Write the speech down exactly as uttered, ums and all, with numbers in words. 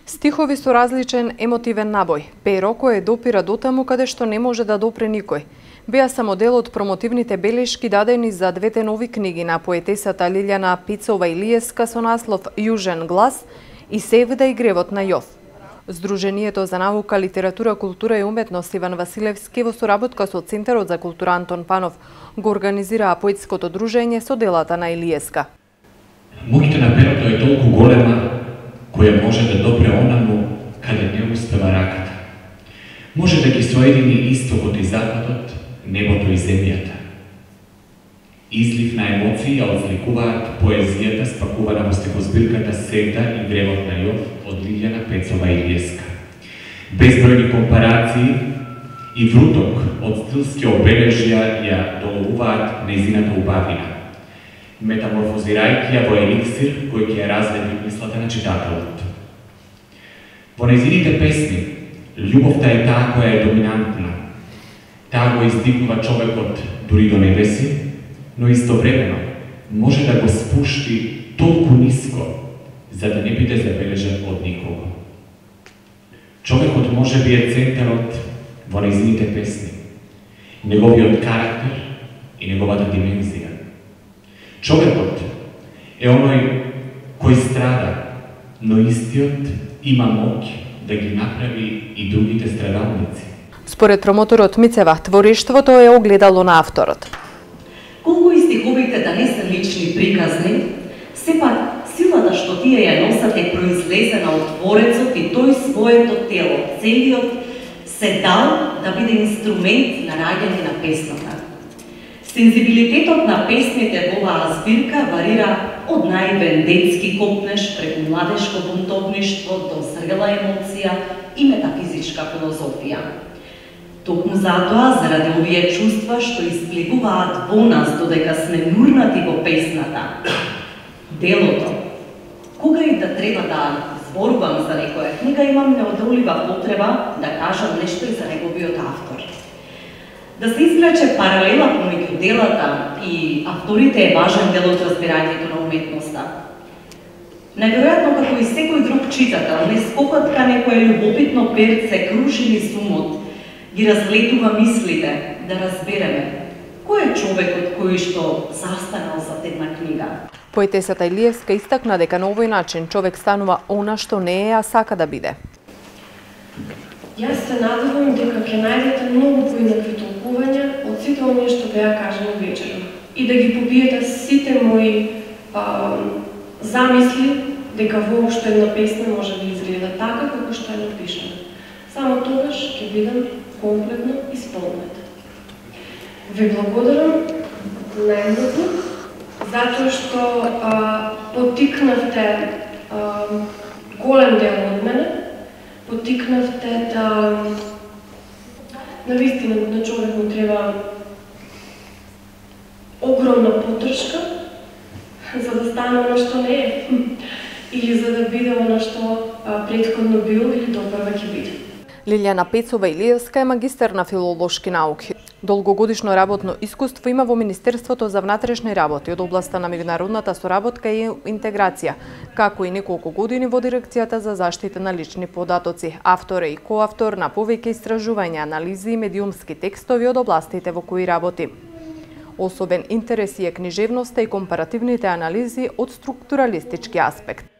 Стихови со различен емотивен набој, перо кое допира дотаму каде што не може да допре никој. Беа само дел од промотивните белешки дадени за двете нови книги на поетесата Лилјана Пецова-Илиевска со наслов Јужен глас и Севда и гревот на Јов. Сдруженијето за наука, литература, култура и уметност Иван Василевски во соработка со Центарот за култура Антон Панов го организираа поетското дружење со делата на Илиевска. Моќта на перото е толку голема која може да допре онаму каде не успева раката. Може да ги соедини истокот и западот, небото и земјата. Излив на емоции ја отсликуваат поезијата спакувана во стихозбирката Севда и гревот на Јов од Лилјана Пецова-Илиевска. Безбројни компарации и вруток од стилски обележја ја доловуваат нејзината убавина, метаморфозирајќи ја во еликсир кој ќе ја развети мислата на читателот. Во нејзините песни, љубовта е таа која е доминантна. Таа го издигнува човекот дури до небеси, но истовремено може да го спушти толку ниско, за да не биде забележен од никого. Човекот може би е центарот во нејзините песни, неговиот карактер и неговата димензија. Човекот е оној кој страда, но истиот има моќ да ги направи и другите страдалници. Според промоторот Мицева, творештвото е огледало на авторот. Колку и стиховите да не се лични приказни, сепак силата што тие ја носат е произлезена од творецот и тој своето тело, целиот се дал да биде инструмент на раѓање на песната. Сензибилитетот на песните во оваа збирка варира од наивен детски копнеш преку младешко бунтовништво до зрела емоција и метафизичка филозофија. Токму затоа, заради овие чувства што исплегуваат во нас додека сме нурнати во песната, делото, кога и да треба да зборувам за некоја книга, имам неодолива потреба да кажам нешто и за неговиот автор. Да се извлече паралела помеѓу делата и авторите е важен дел од разбирањето на уметноста. Најверојатно, како и секој друг читател, не скокот ка некое љубопитно перце круши низ умот, ги разлетува мислите да разбереме кој е човекот кој што застанал за една книга. Поетесата Илиевска истакна дека на овој начин човек станува она што не е, а сака да биде. Јас се надевам дека ќе најдете многу поинакви толкувања од сите оние што беа кажани вечерва и да ги побиете сите мои а, замисли дека воопшто една песна може да изгледа така како што е напишана. Само тогаш ќе бидам комплетно исполнета. Ви благодарам најмногу затоа што а, потикнавте а, голем дел од мене, потикнавте да навистина на човек му треба огромна поддршка за да стане она што не е или за да биде она што претходно бил или допрва ќе биде. Лилјана Пецова-Илиевска е магистер на филолошки науки. Долгогодишно работно искуство има во Министерството за внатрешни работи од областа на меѓународната соработка и интеграција, како и неколку години во Дирекцијата за заштита на лични податоци. Автор е и коавтор на повеќе истражувања, анализи и медиумски текстови од областите во кои работи. Особен интерес е книжевноста и компаративните анализи од структуралистички аспект.